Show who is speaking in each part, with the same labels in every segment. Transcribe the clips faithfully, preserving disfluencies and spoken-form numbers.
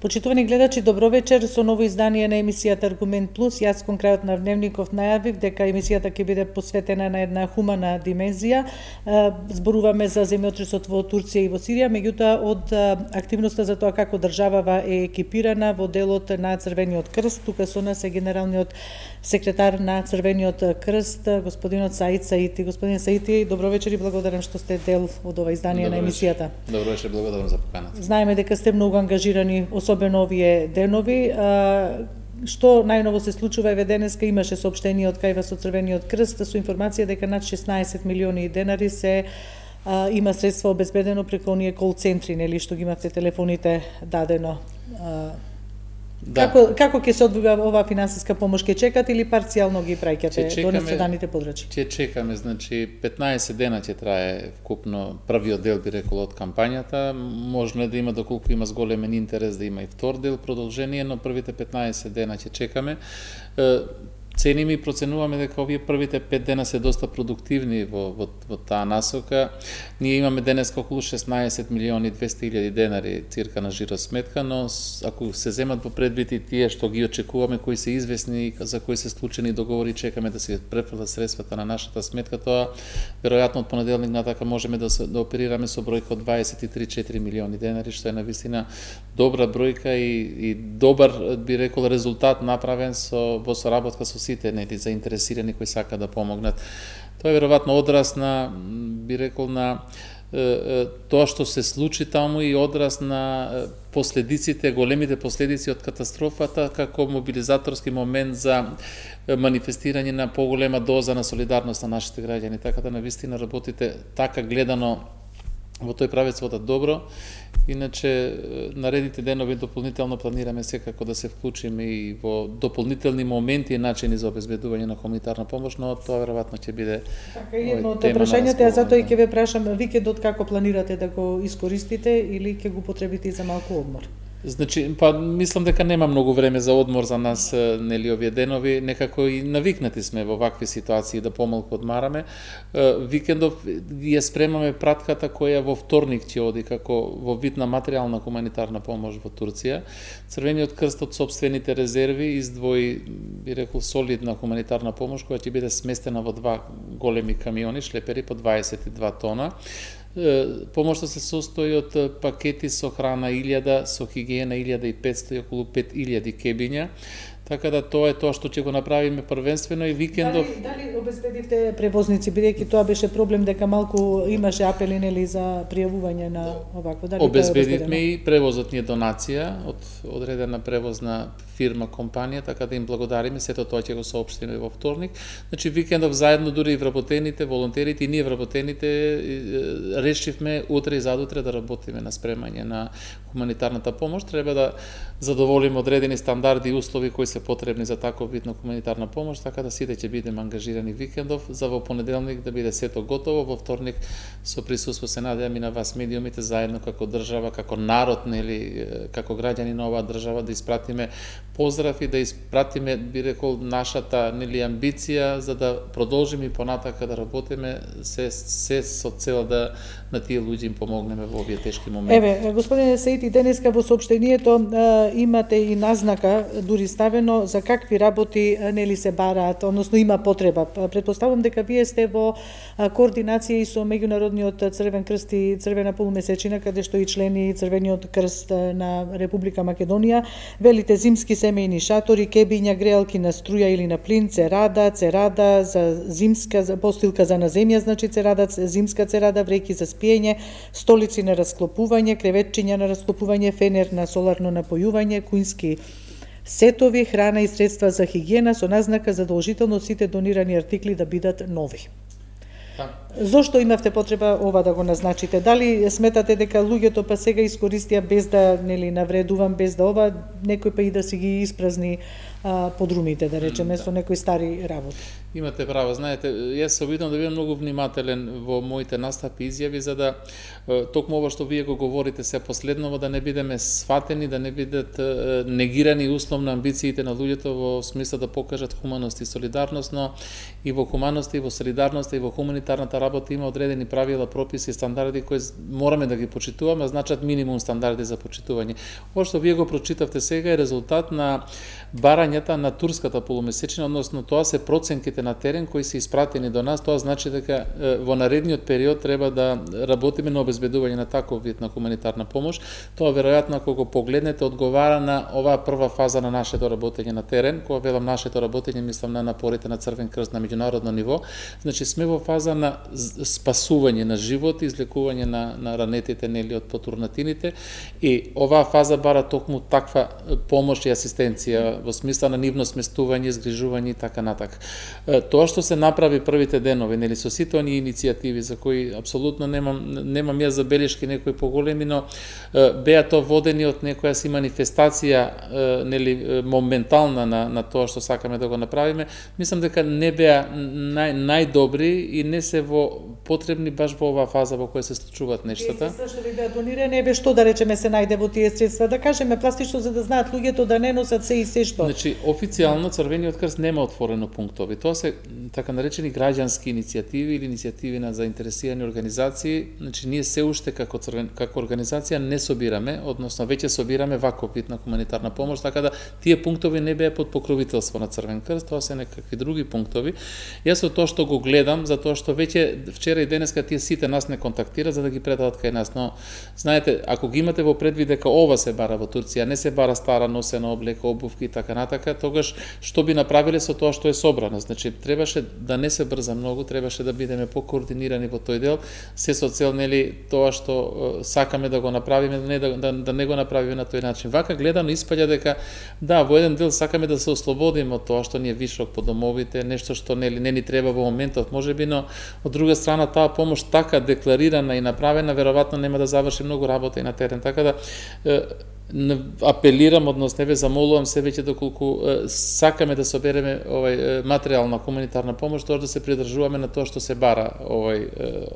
Speaker 1: Почитувани гледачи, добро вечер со ново издание на емисијата Аргумент Плюс. Јас кон крајот на Дневников најавив дека емисијата ќе биде посветена на една хумана димензија. Зборуваме за земјотресот во Турција и во Сирија, меѓутоа од активноста за тоа како државава е екипирана во делот на Црвениот крст. Тука со нас е генералниот секретар на Црвениот крст, господинот Саид Саити. Господин Саити, добро вечер и благодарам што сте дел од ова издание
Speaker 2: добро
Speaker 1: на емисијата.
Speaker 2: Добро вечер, благодарам за поканата.
Speaker 1: Знаеме дека сте многу ангажирани, особено овие денови. А, што најново се случува еве денеска имаше соопштение од кај вас од Црвениот крст со информација дека над шеснаесет милиони денари се а, има средства обезбедено преку оние кол центри, нели, што ги имавте телефоните дадено. А, да. Како како ќе се одвива ова финансиска помош? Ќе чекате или парцијално ги праќате до наследените подрачи?
Speaker 2: Ќе чекаме, значи петнаесет дена ќе трае вкупно првиот дел, би рекол, од кампањата. Можно е да има, доколку има зголемен интерес, да има и втор дел продолжение, но првите петнаесет дена ќе чекаме. Цениме и проценуваме дека овие првите пет дена се доста продуктивни во, во, во таа насока. Ние имаме денеска околу шеснаесет милиони и двесте илјади денари цирка на жиросметка, но ако се земат во предвид и тие што ги очекуваме, кои се известни, за кои се склучени договори, чекаме да се префрлат средствата на нашата сметка, тоа веројатно од понеделник натака можеме да, се, да оперираме со бројка од дваесет и три до четири милиони денари, што е навистина добра бројка и, и добар, би рекол, резултат направен со, во соработка со сите, нели, заинтересирани кои сака да помогнат. Тоа е веројатно одраз на, би рекол, на е, тоа што се случи таму и одраз на последиците, големите последици од катастрофата, како мобилизаторски момент за манифестирање на поголема доза на солидарност на нашите граѓани. Така да навистина работите така гледано во тој правец водат добро. Иначе, наредните денови дополнително планираме секако да се вклучиме и во дополнителни моменти и начини за обезбедување на хуманитарна помош, но тоа веројатно ќе биде
Speaker 1: така, едно од прашањата, а затоа и ќе ве прашам, викендот како планирате да го искористите или ќе го потребите и за малку одмор?
Speaker 2: Значи, па мислам дека нема многу време за одмор за нас, нели, овие денови, некако и навикнати сме во вакви ситуации да помалку одмараме. Викендов ја спремаме пратката која во вторник ќе оди како во вид на материјална хуманитарна помош во Турција. Црвениот крст од сопствените резерви издвои, би рекол, солидна хуманитарна помош која ќе биде сместена во два големи камиони, шлепери по дваесет и два тона. Помошта се состои од пакети со храна илјада, со хигиена илјада и петсто и околу пет илјади кебиња. Така да тоа е тоа што ќе го направиме првенствено и викендов.
Speaker 1: Дали, дали обезбедивте превозници, бидејќи тоа беше проблем дека малку имаше апели, нели, за пријавување на овакво? Дали
Speaker 2: обезбедивме и превозот ни е донација од одредена превозна фирма, компанија, така да им благодариме, сето тоа ќе го соопштиме во вторник. Значи викендов заедно дури и вработените, волонтерите и ние вработените решивме утре и задутре да работиме на спремање на хуманитарната помош. Треба да задоволиме одредени стандарди и услови кои се потребни за таков вид на хуманитарна помош, така да сите ќе бидеме ангажирани викендов, за во понеделник да биде сето готово, во вторник со присуство се надевам и на вас медиумите заедно како држава, како народ, нели, како граѓани на оваа држава да испратиме поздрав и да испратиме, би рекол, нашата, нели, амбиција за да продолжиме и понатака да работиме се, се со цел да на тие луѓе им помогнеме во овие тешки моменти.
Speaker 1: Еве, господине Саити, денеска во соопштението а, имате и назнака, дури ставено, за какви работи, нели, се бараат, односно има потреба. Претпоставувам дека вие сте во а, координација и со Меѓународниот Црвен крст и Црвена полумесечина, каде што и члени Црвениот крст на Република Македонија, велите зимски семејни шатори, кебиња, греалки на струја или на плин, церада, церада за зимска, за постилка за на земја, значи церада, зимска церада, вреќи за спиење, столици на расклопување, креветчиња на расклопување, фенер на соларно напојување, куински сетови, храна и средства за хигиена со назнака задолжително сите донирани артикли да бидат нови. Зошто имавте потреба ова да го назначите? Дали сметате дека луѓето па сега искористија без да, нели, навредувам, без да ова, некој па и да си ги испразни а, подрумите, да речеме, да, со некои стари работи?
Speaker 2: Имате право, знаете, јас се обидам да бидам многу внимателен во моите настапи и изјави, за да токму ова што вие го говорите се последново, да не бидеме сватени, да не бидат негирани условно амбициите на луѓето во смисла да покажат хуманост и солидарност, но и во хуманост и во солидарност и во хуманитарната работа има одредени правила, прописи, стандарди кои мораме да ги почитуваме, значат минимум стандарди за почитување. Ова што вие го прочитавте сега е резултат на барањата на турската полумесечина, односно тоа се проценките на терен кои се испратени до нас. Тоа значи дека во наредниот период треба да работиме на обезбедување на таков вид на хуманитарна помош. Тоа веројатно ако го погледнете одговара на оваа прва фаза на нашето работење на терен. Кога велам нашето работење, мислам на напорите на Црвен крст на меѓународно ниво. Значи сме во фаза на спасување на живот, излекување на, на ранетите нели од потурнатините, и оваа фаза бара токму таква помош и асистенција во смисла на нивно сместување, згрижување и така натак. Тоа што се направи првите денови, нели со сите оние иницијативи за кои апсолутно немам немам ја забелешки некои поголеми, но беа тоа водени од некоја си манифестација нели моментална на на тоа што сакаме да го направиме. Мислам дека не беа нај најдобри и не се во потребни баш во оваа фаза во која се случуваат нештата.
Speaker 1: Средства што ви беа донирани, еве што да речеме се најде во тие средства, да кажеме пластично за да знаат луѓето да не носат се и се што.
Speaker 2: Значи официјално Црвениот крст нема отворено пунктови. Тоа се така наречени граѓански иницијативи или иницијативи на заинтересирани организации. Значи ние се уште како црвен како организација не собираме, односно веќе собираме ваков вид на хуманитарна помош, така да тие пунктови не беа под покровителство на Црвен крст, тоа се некакви други пунктови. Јас од тоа што го гледам, затоа што веќе вчера и денеска тие сите нас не контактираат за да ги предадат кај нас, но знаете, ако ги имате во предвид дека ова се бара во Турција, не се бара стара носена облека, обувки и така натака, тогаш што би направиле со тоа што е собрано? Значи требаше да не се брза многу, требаше да бидеме покоординирани во тој дел, се со цел нели тоа што сакаме да го направиме, не да, да, да не го направиме на тој начин. Вака гледано испаѓа дека да, во еден дел сакаме да се ослободиме од тоа што ни е вишок по домовите, нешто што нели не ни треба во моментот, можеби, но од друга страна таа помош така декларирана и направена веројатно нема да заврши многу работа и на терен, така да апелирам, односно ве замолувам се веќе доколку сакаме да собереме овај материјална хуманитарна помош, тоа да се придржуваме на тоа што се бара овај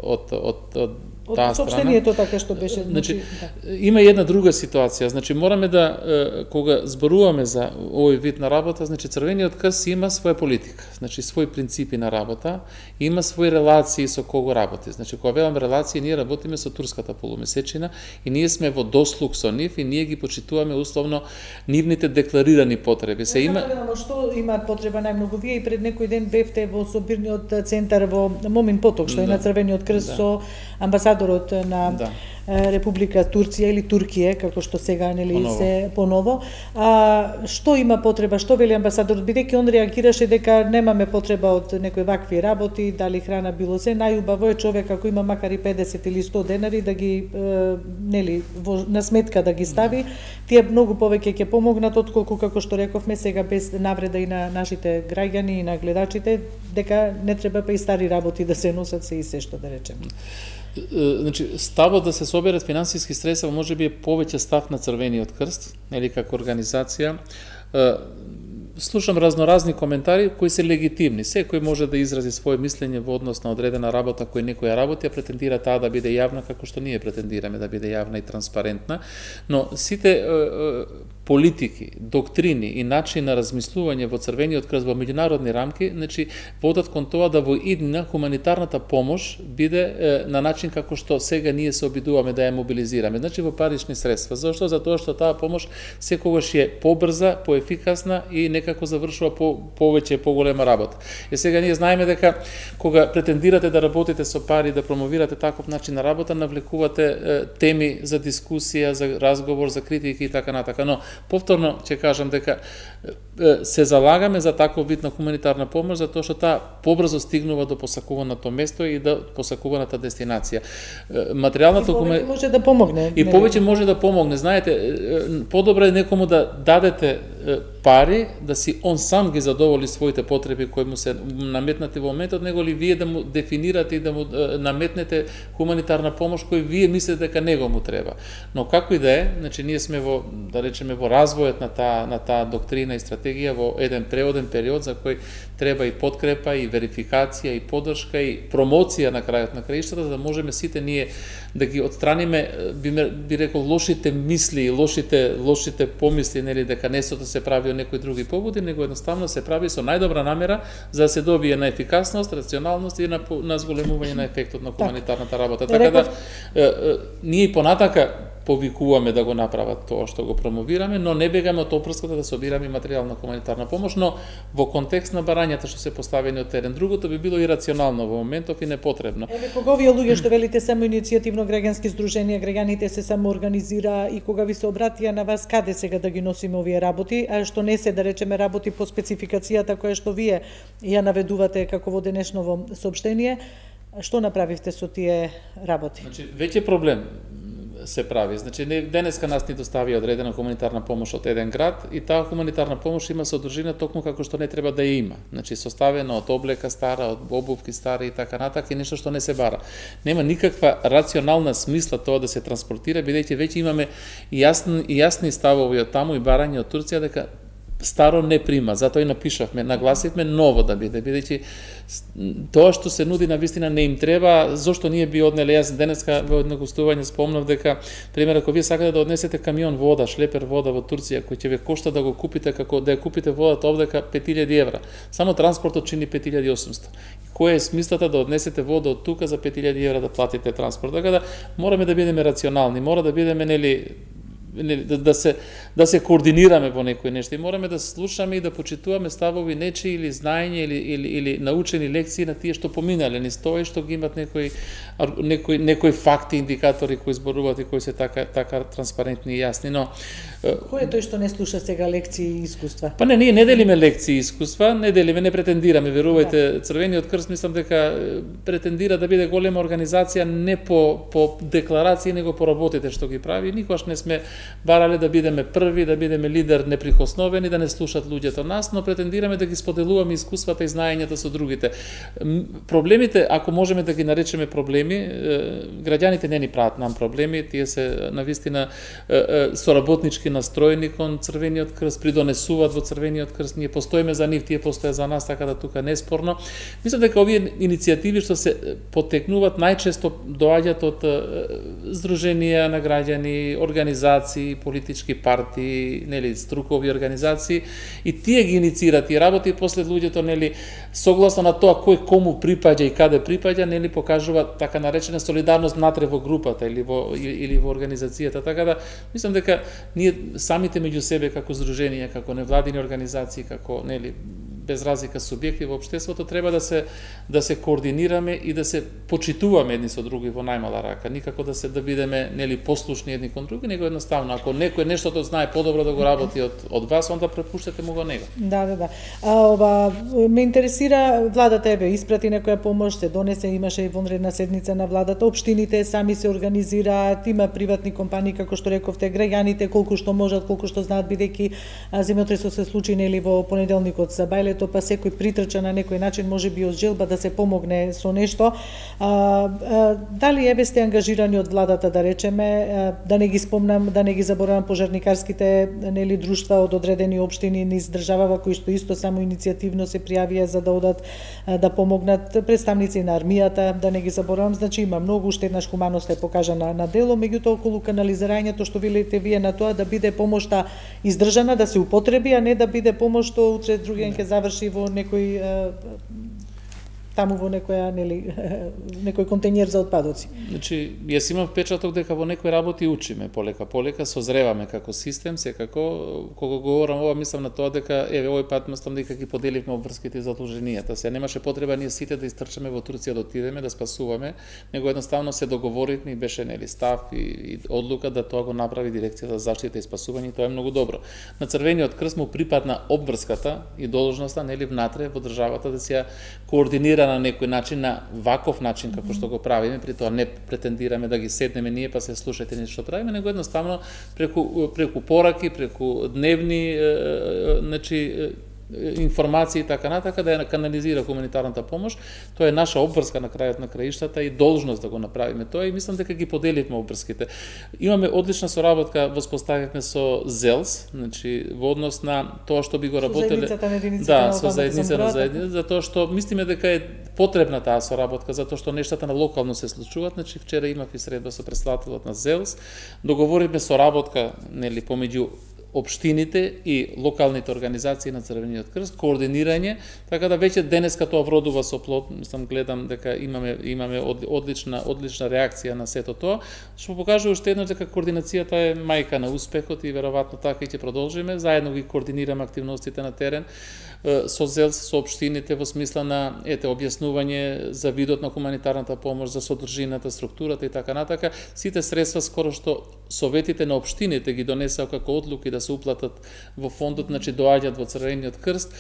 Speaker 2: од од од
Speaker 1: од
Speaker 2: таа страна.
Speaker 1: сопштението така што беше.
Speaker 2: Значи да. Има и една друга ситуација, значи мораме да кога зборуваме за овој вид на работа, значи Црвениот крст има своја политика, значи своји принципи на работа, има своји релации со кого работи. Значи кога велам релации, ние работиме со турската полумесечина и ние сме во дослуг со нив и ние ги почитуваме условно нивните декларирани потреби. Се има
Speaker 1: што имаат потреба најмногу. Вие и пред некој ден бевте во собирниот центар во Момин Поток, што е да. на Црвениот крст да. со амбасадорот на да. Република Турција или Туркија, како што сега нели поново. се поново. А што има потреба, што вели амбасадорот, бидејќи он реагираше дека немаме потреба од некои вакви работи, дали храна било се, најубаво е човек ако има макар и педесет или сто денари да ги е, нели во, на сметка да ги стави, тие многу повеќе ќе помогнат отколку како што рековме сега без навреда и на нашите граѓани и на гледачите, дека не треба па и стари работи да се носат се и се што да речеме.
Speaker 2: Значи, ставот да се соберат финансиски средства можеби е повеќе став на Црвениот крст, нели како организација. Слушам разноразни коментари кои се легитимни. Секој може да изрази свое мислење во однос на одредена работа кој некоја работи, а претендира таа да биде јавна како што ние претендираме да биде јавна и транспарентна, но сите е, е, политики, доктрини и начин на размислување во Црвениот крст во меѓународни рамки, значи водат кон тоа да во иднина хуманитарната помош биде е, на начин како што сега ние се обидуваме да ја мобилизираме, значи во парични средства. Зошто? Затоа што таа помош секогаш е побрза, поефикасна и некако завршува по повеќе поголема работа. И сега ние знаеме дека кога претендирате да работите со пари, да промовирате таков начин на работа, навлекувате е, теми за дискусија, за разговор, за критики и така натака, но повторно ќе кажам дека се залагаме за таков вид на хуманитарна помош затоа што таа побрзо стигнува до посакуваното место и до посакуваната дестинација. Материјалната
Speaker 1: хуманитарна може да помогне.
Speaker 2: И повеќе може да помогне. Знаете, подобро е некому да дадете пари да си он сам ги задоволи своите потреби кои му се наметнати во моментот, него ли вие да му дефинирате и да му наметнете хуманитарна помош кој вие мислите дека него му треба. Но како и да е, значи ние сме во, да речеме, во развојот на таа на таа доктрина и стратегија стратегија во еден преоден период за кој треба и подкрепа, и верификација, и поддршка, и промоција на крајот на краиштата, за да можеме сите ние да ги отстраниме, би, би рекол, лошите мисли, лошите, лошите помисли, нели, дека несото се прави од некои други поводи, него едноставно се прави со најдобра намера за да се добие на ефикасност, рационалност и на, на зголемување на ефектот на хуманитарната работа. Така да, е, е, ние понатака повикуваме да го направат тоа што го промовираме, но не бегаме од опрската да собираме материјална хуманитарна помош, но во контекст на барањата што се поставени од терен. Другото би било ирационално во моментов и непотребно.
Speaker 1: Еве, кога овие луѓе што велите само иницијативно граѓански здруженија, граѓаните се само организира и кога ви се обратија на вас, каде сега да ги носиме овие работи, а што не се, да речеме, работи по спецификацијата која што вие ја наведувате како во денешново соопштение, што направивте со тие работи?
Speaker 2: Значи, веќе проблем се прави. Значи, денеска нас ни доставија одредена хуманитарна помош од еден град и таа хуманитарна помош има содржина токму како што не треба да ја има. Значи, составена од облека стара, од обувки стари и така натак, и нешто што не се бара. Нема никаква рационална смисла тоа да се транспортира, бидејќи веќе имаме јасни, јасни ставови од таму и барање од Турција дека старо не прима, затоа и напишавме, нагласивме ново да биде, бидејќи тоа што се нуди на вистина не им треба, зошто ние би однеле. Јас денеска во едно гостување спомнав дека, пример, ако вие сакате да однесете камион вода, шлепер вода во Турција, кој ќе ве кошта да го купите, како да ја купите водата овдека пет илјади евра, само транспортот чини пет илјади и осумстотини. Која е смислата да однесете вода од тука за пет илјади евра да платите транспорт? Така да мораме да бидеме рационални, мора да бидеме, нели, Да, да се да се координираме во некои нешта и мораме да слушаме и да почитуваме ставови нечи или знаење или или или научени лекции на тие што поминале низ тоа и што ги имат некои некои некои факти, индикатори кои зборуваат и кои се така така транспарентни и јасни, но
Speaker 1: кој е тој што не слуша сега лекции и искуства?
Speaker 2: Па не, ние не делиме лекции и искуства, не делиме, не претендираме, верувајте, Црвениот крст мислам дека претендира да биде голема организација не по по декларации, него по работите што ги прави. Никогаш не сме барале да бидеме први, да бидеме лидер неприкосновени, да не слушат луѓето нас, но претендираме да ги споделуваме искуствата и знаењата со другите. Проблемите, ако можеме да ги наречеме проблеми, граѓаните не ни прават нам проблеми, тие се навистина соработнички настроени кон Црвениот крст, придонесуваат во Црвениот крст, ние постоиме за нив, тие постојат за нас, така да тука не е спорно. Мислам дека овие иницијативи што се потекнуваат најчесто доаѓаат од здруженија на граѓани, организации, политички партии, нели, струкови организации, и тие ги инициират и работи, и после луѓето, нели, согласно на тоа кој кому припаѓа и каде припаѓа, нели, покажува така наречена солидарност внатре во групата или во или во организацијата. Така да мислам дека ние самите меѓу себе како здруженија, како невладини организации, како, нели, без разлика субјекти во општеството, треба да се да се координираме и да се почитуваме едни со други во најмала рака. Никако да се да бидеме, нели, послушни едни кон други, него едноставно ако некој нештото знае подобро да го работи од од вас, онда препуштете му го него.
Speaker 1: Да, да, да. А ова ме интересира, владата еве испрати некоја помош, се донесе, имаше и вонредна седница на владата, општините сами се организираат, има приватни компании како што рековте, граѓаните колку што можат, колку што знаат, бидејќи земјотресот се случи, нели, во понеделникот за Бајлето, па секој притрча на некој начин, можеби од желба да се помогне со нешто. А, а, дали еве сте ангажирани од владата, да речеме, а, да не ги спомнам, да не ги заборавам пожарникарските, нели, друштва од одредени општини низ државава кои што исто само иницијативно се пријавија за да одат да помогнат, представници на армијата, да не ги заборавам. Значи има многу, уште еднаш хуманост е покажана на дело, меѓутоа околу канализирањето што велите вие на тоа да биде помошта издржана, да се употреби, а не да биде помош што утре другиен ќе заврши во некој таму во некоја, нели, некој контејнер за отпадоци.
Speaker 2: Значи, јас имам впечаток дека во некои работи учиме полека полека, созреваме како систем, секако кога говорам ова мислам на тоа дека еве овој пат мислам дека ги поделивме обврските и задолженијата. Се немаше потреба ние сите да истрчаме во Турција да отидеме да спасуваме, него едноставно се договоривме и беше, нели, став и, и одлука да тоа го направи дирекцијата за заштита и спасување, и тоа е многу добро. На Црвениот крст му припадна обврската и должноста, нели, внатре во државата да се координира на некој начин, на ваков начин како што го правиме, при тоа не претендираме да ги седнеме ние па се слушате нешто што правиме, него едноставно преку преку пораки, преку дневни, значи информации и така натака, да ја канализира хуманитарната помош. Тоа е наша обврска на крајот на краиштата и должност да го направиме тоа и мислам дека ги поделивме обврските. Имаме одлична соработка, воспоставивме со ЗЕЛС, значи во однос на тоа што би го работеле.
Speaker 1: Со заедницата на единиците
Speaker 2: да,
Speaker 1: на
Speaker 2: со заедница на заедница, затоа што мислиме дека е потребна таа соработка, затоа што нештата на локално се случуваат. Значи вчера имав и средба со претставителот на ЗЕЛС, договоривме соработка, нели, помеѓу општините и локалните организации на Црвениот крст, координирање, така да веќе денеска тоа вродува со плод. Мислам, гледам дека имаме имаме одлична одлична реакција на сето тоа, што покажува уште еднаш дека координацијата е мајка на успехот и веројатно така и ќе продолжиме. Заедно ги координираме активностите на терен со ЗЕЛС, со општините во смисла на ете објаснување за видот на хуманитарната помош, за содржината, структурата и така натака. Сите средства скоро што советите на општините ги донесеа како одлуки да се уплатат во фондот, значи доаѓаат во Црвениот крст.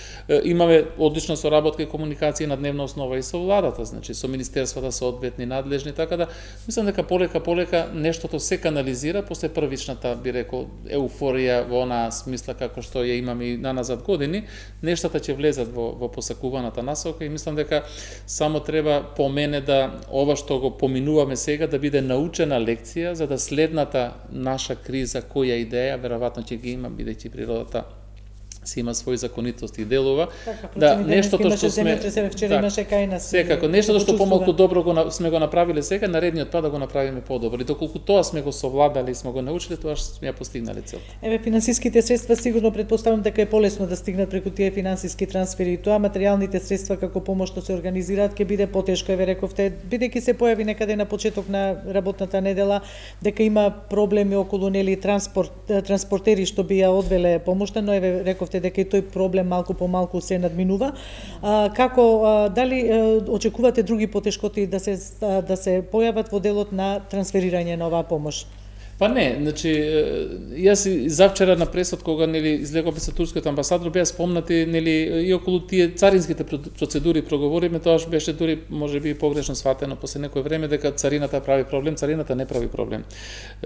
Speaker 2: Имаме одлична соработка и комуникација на дневна основа и со владата, значи со министерствата соодветни надлежни, така да мислам дека полека полека нештото се канализира после првичната, би рекол, еуфорија во онаа смисла како што ја имаме и на назад години, нештата ќе влезат во, во посакуваната насока и мислам дека само треба по мене да ова што го поминуваме сега да биде научена лекција за да следната наша криза која идеја веројатно ќе ги има, бидејќи природата си има своји законитости и делува.
Speaker 1: Така,
Speaker 2: да, нештото што сме
Speaker 1: вчера имаше кај нас.
Speaker 2: Секако, нештото што помалку добро го сме го направиле сега, наредниот пат да го направиме подобро. И доколку тоа сме го совладале и сме го научиле, тоа што сме ја постигнале целта.
Speaker 1: Еве, финансиските средства сигурно претпоставам дека е полесно да стигнат преку тие финансиски трансфери. Тоа материјалните средства како помош што се организираат ќе биде потешко, еве рековте, бидејќи се појави некаде на почеток на работната недела дека има проблеми околу нели транспорт транспортери што би ја одвеле помошта, но еве рековте дека и тој проблем малку по малку се надминува. А, како а, дали а, очекувате други потешкоти да се да се појават во делот на трансферирање на оваа помош?
Speaker 2: Па не, значи јас и завчера на пресот кога нели излегов со турскиот амбасадор беа спомнати нели и околу тие царинските процедури проговориме, тоаш беше дури можеби погрешно сватено после некој време дека царината прави проблем, царината не прави проблем.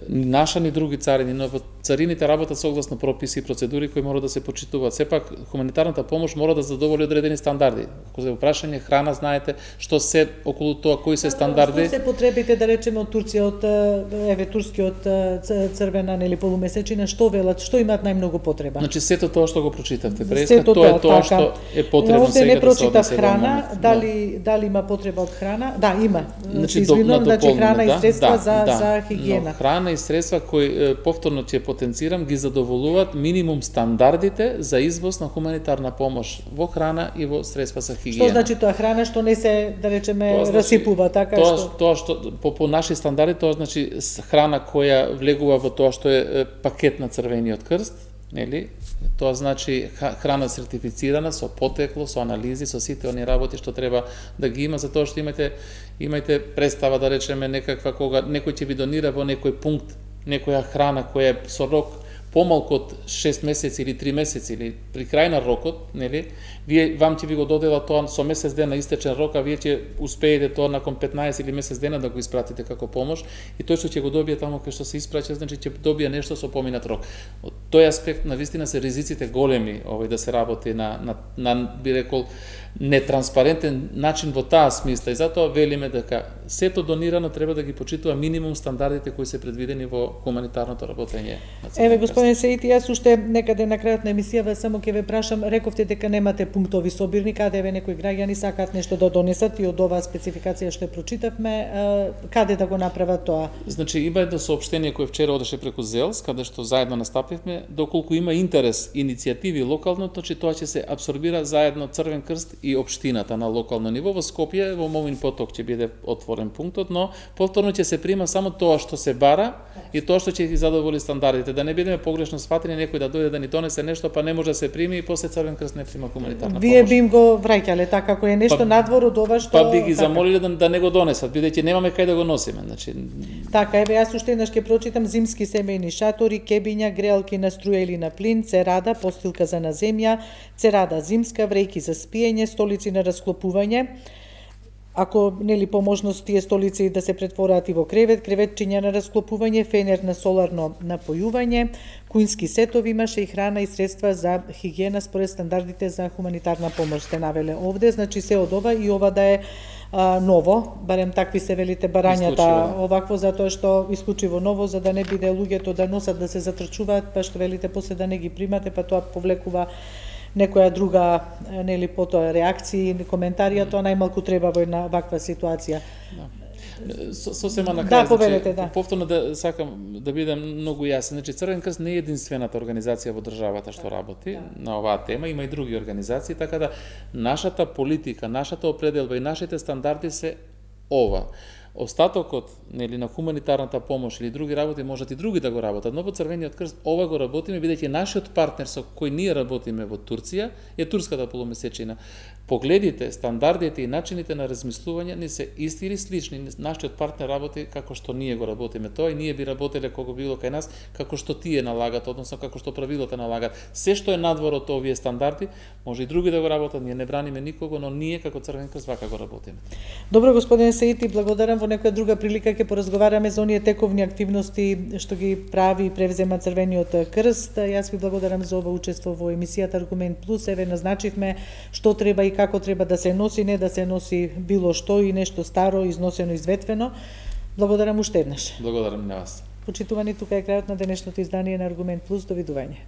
Speaker 2: Наша ни други царини, но во царините работат согласно прописи и процедури кои мора да се почитуваат. Сепак хуманитарната помош мора да задоволи одредени стандарди. Ако се прашање храна, знаете што се околу тоа кои се стандарди.
Speaker 1: Што се потребите да речеме од Турција, од еве турскиот црвена нели полумесечина, што велат, што имаат најмногу потреба?
Speaker 2: Значи сето тоа што го прочитавте преска, тоа е тоа што е потребно сега да се однесе. Овде
Speaker 1: не прочитав храна, дали дали има потреба од храна? Да, има.
Speaker 2: Значи,
Speaker 1: извинувам, значи храна
Speaker 2: да,
Speaker 1: и средства
Speaker 2: да,
Speaker 1: за
Speaker 2: да,
Speaker 1: за хигиена.
Speaker 2: Но храна и средства кои повторно ќе потенцирам ги задоволуваат минимум стандардите за извоз на хуманитарна помош во храна и во средства за хигиена.
Speaker 1: Што значи тоа храна што не се да речеме
Speaker 2: тоа, значи,
Speaker 1: расипува така
Speaker 2: тоа,
Speaker 1: што
Speaker 2: тоа што по, по наши стандарди тоа значи храна која влегува во тоа што е пакет на Црвениот крст, нели? Тоа значи храна сертифицирана со потекло, со анализи, со сите они работи што треба да ги има, затоа што имате имајте представа да речеме некаква кога некој ќе ви донира во некој пункт некоја храна која е со рок помалку од шест месеци или три месеци или при крај на рокот, нели? Вие вам ќе ви го додела тоа со месец дена истечен рок, а вие ќе успеете тоа након петнаесет или месец дена да го испратите како помош и тој што ќе го добие таму кај што се испраќа, значи ќе добие нешто со поминат рок. Од тој аспект навистина се ризиците големи овој да се работи на на на би рекол нетранспарентен начин во таа смисла и затоа велиме дека сето донирано треба да ги почитува минимум стандардите кои се предвидени во хуманитарното работење.
Speaker 1: Еве господин Сеити, јас уште некаде на крајот на емисијава само ќе ве прашам, рековте дека немате пунктови собирни каде еве некои граѓани сакаат нешто да донесат и од оваа спецификација што прочитавме, каде да го направат тоа?
Speaker 2: Значи има едно соопштение кое вчера одеше преку ЗЕЛС, каде што заедно настапивме, доколку има интерес иницијативи локално, значи тоа ќе се апсорбира заедно Црвен крст и општината на локално ниво. Во Скопје во Мовин поток ќе биде отворен пунктот, но повторно ќе се прима само тоа што се бара и тоа што ќе ги задоволи стандардите, да не бидеме погрешно сфатени некој да дојде да ни донесе нешто па не може да се прими и после Црвен крст не прима хуманитарна
Speaker 1: Вие
Speaker 2: помош.
Speaker 1: би им го враќале така ако е нешто па, надвор од ова што
Speaker 2: па би ги
Speaker 1: така.
Speaker 2: замолиле да, да не го донесат, бидејќи немаме кај да го носиме, значи.
Speaker 1: Така, еве јас уште еднаш ќе прочитам: зимски семејни шатори, кебиња, греалки на струја или на плин, церада, постилка за на земја, церада зимска, врејки за спиење, столици на расклопување. ако нели по можност тие столици да се претвораат и во кревет, креветчиња на расклопување, фенер на соларно напојување, куински сетови, имаше и храна и средства за хигиена според стандардите за хуманитарна помош, сте навеле овде, значи се од ова и ова да е а, ново, барем такви се велите барањата овакво, затоа што исклучиво ново, за да не биде луѓето да носат, да се затрчуваат, па што велите после да не ги примате, па тоа повлекува некоја друга, нели, потоа реакции, коментари, а тоа најмалку треба во една ваква ситуација.
Speaker 2: Да. Сосема на крај,
Speaker 1: да, повелете,
Speaker 2: значи,
Speaker 1: да.
Speaker 2: повторно да сакам да бидам многу јасен. Значи, Црвен крст не е единствената организација во државата што работи да. на оваа тема, има и други организации, така да нашата политика, нашата определба и нашите стандарди се ова. Остатокот, нели, на хуманитарната помош или други работи можат и други да го работат, но во Црвениот крст ова го работиме бидејќи нашиот партнер со кој ние работиме во Турција е турската полумесечина. Погледите, стандардите и начините на размислување не се исти или слични. Нашиот партнер работи како што ние го работиме тоа и ние би работеле кога било кај нас како што тие налагат, односно како што правилата налагат. Се што е надвор од овие стандарди, може и други да го работат, ние не браниме никого, но ние како Црвен крст вака го работиме.
Speaker 1: Добро, господине Саити, благодарам. Во некоја друга прилика ќе поразговараме за оние тековни активности што ги прави и превзема Црвениот крст. Јас ви благодарам за ова учество во емисијата Аргумент Плюс. Еве назначивме што треба и како треба да се носи, не да се носи било што и нешто старо, износено, изветвено. Благодарам уште еднаш.
Speaker 2: Благодарам на вас.
Speaker 1: Почитувани, тука е крајот на денешното издание на Аргумент Плюс. Довидување.